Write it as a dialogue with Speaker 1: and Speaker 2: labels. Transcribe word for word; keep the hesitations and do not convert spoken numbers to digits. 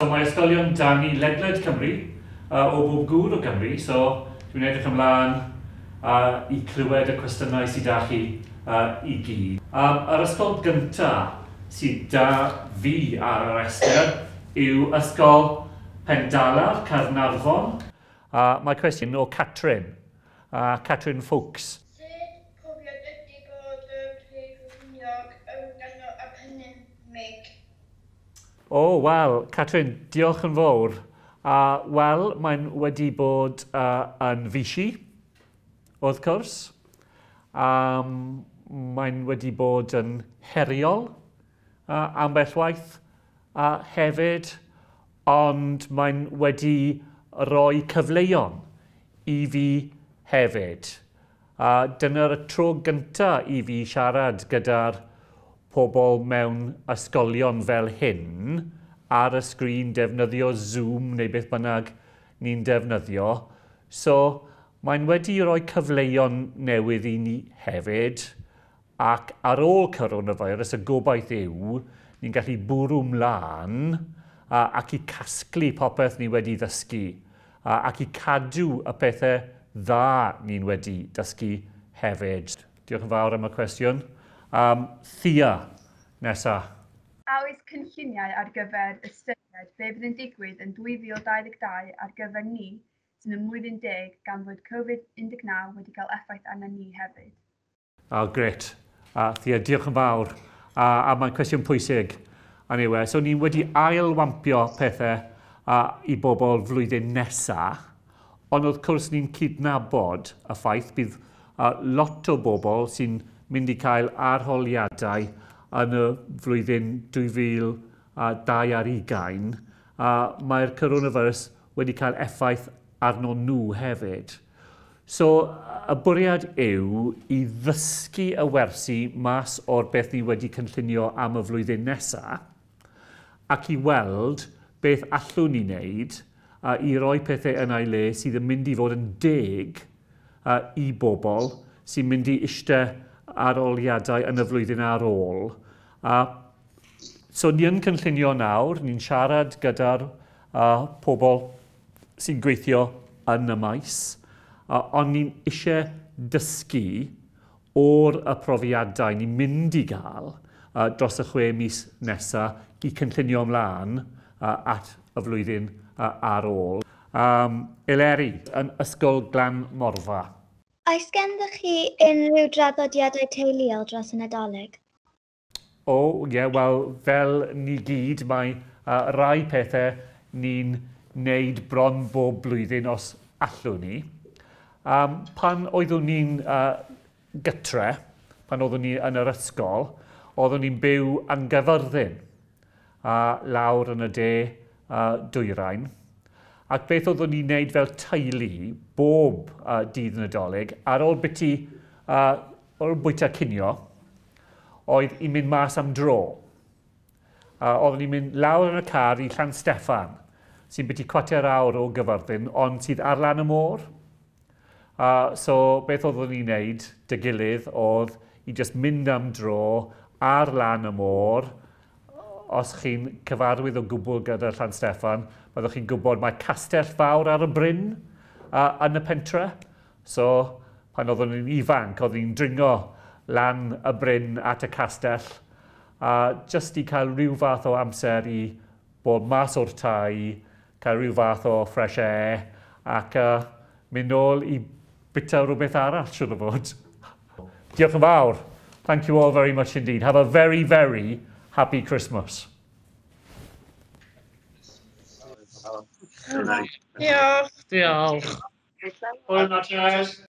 Speaker 1: So mae ysgolion da ni ledled Cymru, uh, o bob gŵr o Gymru, so dwi'n edrych ymlaen uh, i clywed y cwestiynau sydd da chi uh, i gyd. Um, yr ysgol gyntaf sydd da fi ar y rhestr yw Ysgol Pendalar, Caernarfon. Uh, mae cwestiwn o Catrin, uh, Catrin Ffoulkes.
Speaker 2: Sut profiad ydy bod yn Prif Weinidog yn ganol y pandemig?
Speaker 1: O, oh, wel, Catrin, diolch yn fawr. Uh, Wel, mae'n wedi bod uh, yn fishi, wrth gwrs. Um, mae'n wedi bod yn heriol uh, ambell waith uh, hefyd, ond mae'n wedi rhoi cyfleon i fi hefyd. Uh, dyna'r tro gyntaf i fi siarad gyda'r pobl mewn ysgolion fel hyn ar y sgrin, defnyddio Zoom neu beth bynnag ni'n defnyddio. So, mae'n wedi rhoi cyfleon newydd i ni hefyd, ac ar ôl coronavirus, y gobaith yw ni'n gallu bwrw mlaen a, ac i casglu popeth ni wedi ddysgu a, ac i cadw y pethau dda ni'n wedi dysgu hefyd. Diolch yn fawr am y cwestiwn. Um, Thea, nesa.
Speaker 3: A oes cynlluniau ar gyfer ystyried be fydd yn digwydd yn dwy fil dau ddeg dau ar gyfer ni sy'n ym mlwyddyn deg gan fod Covid un deg naw wedi cael effaith arna ni hefyd?
Speaker 1: Oh, grêt. Uh, Thea, diolch yn fawr. Uh, a mae'n cwestiwn pwysig. Anyway, so ni wedi ailwampio pethau uh, i bobl flwyddyn nesa, ond wrth gwrs ni'n cydnabod y ffaith bydd uh, lot o bobl sy'n mynd i cael arholiadau yn y flwyddyn dwy fil a dau ar hugain, a mae'r coronavirus wedi cael effaith arno nhw hefyd. So, y bwriad yw i ddysgu y wersi mas o'r beth ni wedi cynllunio am y flwyddyn nesaf, ac i weld beth allwn ni wneud a i roi pethau yn ei le sydd yn mynd i fod yn deg a, i bobl sy'n mynd i eistedd arholiadau yn y flwyddyn ar ôl. A, so ni yn cynllunio nawr, ni'n siarad gyda'r a, pobl sy'n gweithio yn y maes, a, ond ni'n eisiau dysgu o'r y profiadau ni'n mynd i gael a, dros y chwe mis nesaf i cynllunio ymlaen a, at y flwyddyn a, ar ôl. Um, Eleri, yn Ysgol Glan Morfa.
Speaker 4: Oes ganddoch chi unrhyw draddodiadau teuluol dros y Nadolig?
Speaker 1: O, ie, yeah, wel, fel ni gyd, mae uh, rai pethau ni'n neud bron bob blwyddyn os allwn ni. Um, pan oeddwn ni'n uh, gytre, pan oeddwn ni yn yr ysgol, oeddwn ni'n byw yn Gaerfyrddin, uh, lawr yn y de uh, dwyrain. Ac beth oeddwn ni'n neud fel teulu bob uh, dydd Nadolig, ar ôl biti, uh, ar ôl bwyta cinio, oedd i mynd mas am dro. Uh, oeddwn ni'n mynd lawr yn y car i Llansteffan, sy'n biti chwarter awr o Gyfyrddin, ond sydd ar lan y môr. Uh, so beth oeddwn ni'n neud dy gilydd oedd i just mynd am dro ar lan y môr. Os chi'n cyfarwydd o gwbl gyda Llansteffan, byddwch chi'n gwybod mae castell fawr ar y bryn uh, yn y pentre. So, pan oeddwn ni'n ifanc, oeddwn ni'n dringo lan y bryn at y castell, uh, just i cael rhyw fath o amser i bod mas o'r tai, cael rhyw fath o fresh air, ac uh, mynd nôl i bita rhywbeth arall, siŵr o fod. Diolch yn fawr. Thank you all very much indeed. Have a very, very happy Christmas.
Speaker 2: Diolch.
Speaker 1: Diolch. Hwyl, Natasha.